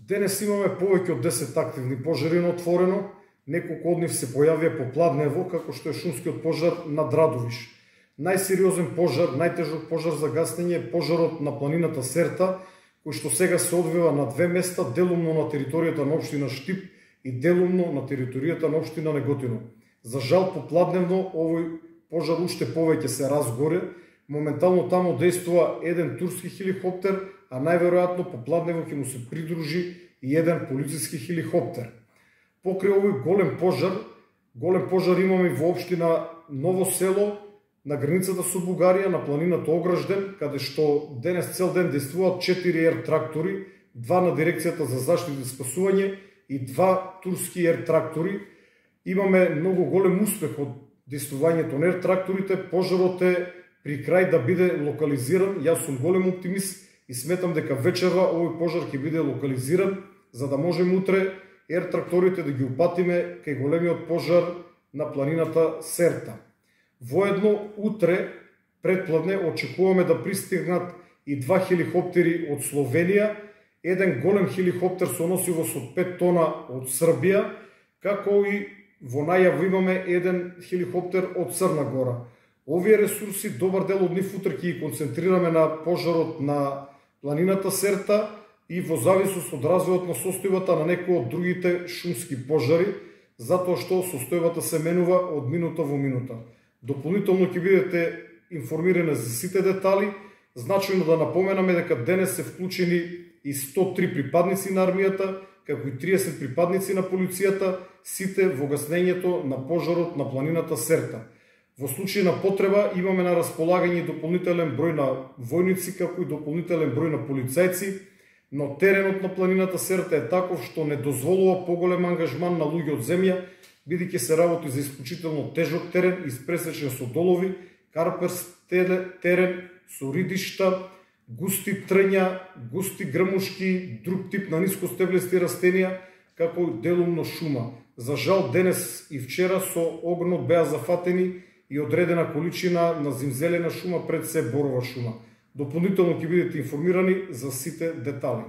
Денес имаме повеќе од 10 активни пожари на отворено, неколку од нив се појавија по Пладнево, како што е шумскиот пожар на Драдовиш. Најсериозен пожар, најтежок пожар за гасење е пожарот на планината Серта, кој што сега се одвива на две места, делумно на територијата на општина Штип и делумно на територијата на општина Неготино. За жал, по Пладневно овој пожар уште повеќе се разгоре. Моментално таму действува еден турски хеликоптер, а најверојатно по Пладнево ќе му се придружи и еден полициски хеликоптер. Покрај овој голем пожар имаме во општина Ново село, на границата со Бугарија, на планината Огражден, каде што денес цел ден действуваат 4 ер трактори, 2 на дирекцијата за заштита и спасување и 2 турски ер трактори. Имаме многу голем успех од действувањето на ер тракторите. Пожарот е при крај да биде локализиран. Јас сум голем оптимист и сметам дека вечерва овој пожар ќе биде локализиран, за да можеме утре ер тракторите да ги упатиме кај големиот пожар на планината Серта. Воедно утре предпладне очекуваме да пристигнат и 2 хеликоптери од Словенија, еден голем хеликоптер со носивост од 5 тона од Србија, како и во најава имаме еден хеликоптер од Црна Гора. Овие ресурси, добар дел од нив утре ќе ги концентрираме на пожарот на планината Серта и во зависност од развојот на состојбата на некои од другите шумски пожари, затоа што состојбата се менува од минута во минута. Дополнително ќе бидете информирани за сите детали. Значено да напоменаме дека денес се вклучени и 103 припадници на армијата, како и 30 припадници на полицијата, сите во гаснењето на пожарот на планината Серта. Во случај на потреба имаме на располагање дополнителен број на војници, како и дополнителен број на полицајци, но теренот на планината Серта е таков што не дозволува поголем ангажман на луѓе од земја, бидејќи се работи за исклучително тежок терен, испресечен со долови, карперст терен, со ридишта, густи трња, густи грмушки, друг тип на нискостеблести растенија, како делумно шума. За жал, денес и вчера со огнот беа зафатени и одредена количина на зимзелена шума, пред се борова шума. Дополнително ќе бидете информирани за сите детали.